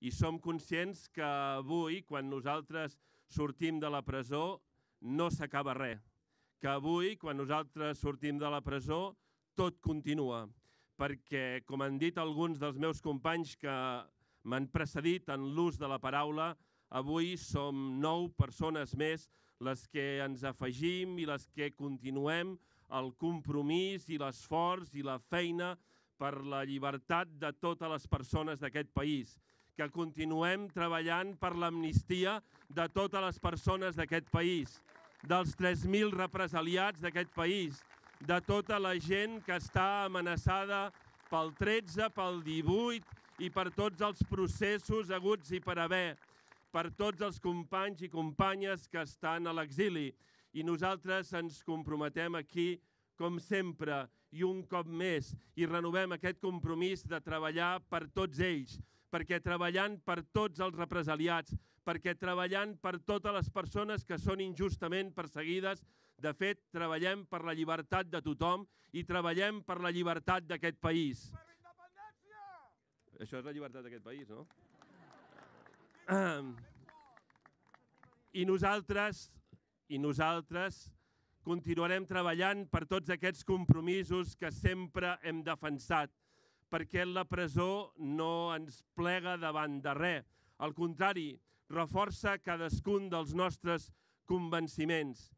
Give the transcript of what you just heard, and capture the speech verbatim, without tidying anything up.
I som conscients que avui, quan nosaltres sortim de la presó, no s'acaba res. Que avui, quan nosaltres sortim de la presó, tot continua. Perquè, com han dit alguns dels meus companys que m'han precedit en l'ús de la paraula, avui som nou persones més les que ens afegim i les que continuem el compromís i l'esforç i la feina per la llibertat de totes les persones d'aquest país, que continuem treballant per l'amnistia de totes les persones d'aquest país, dels tres mil represaliats d'aquest país, de tota la gent que està amenaçada pel tretze, pel divuit i per tots els processos haguts i per haver, per tots els companys i companyes que estan a l'exili. I nosaltres ens comprometem aquí, com sempre, i un cop més, i renovem aquest compromís de treballar per tots ells, perquè treballant per tots els represaliats, perquè treballant per totes les persones que són injustament perseguides, de fet, treballem per la llibertat de tothom i treballem per la llibertat d'aquest país. Per la independència! Això és la llibertat d'aquest país, no? I nosaltres, i nosaltres continuarem treballant per tots aquests compromisos que sempre hem defensat, perquè la presó no ens plega davant de res. Al contrari, reforça cadascun dels nostres convenciments.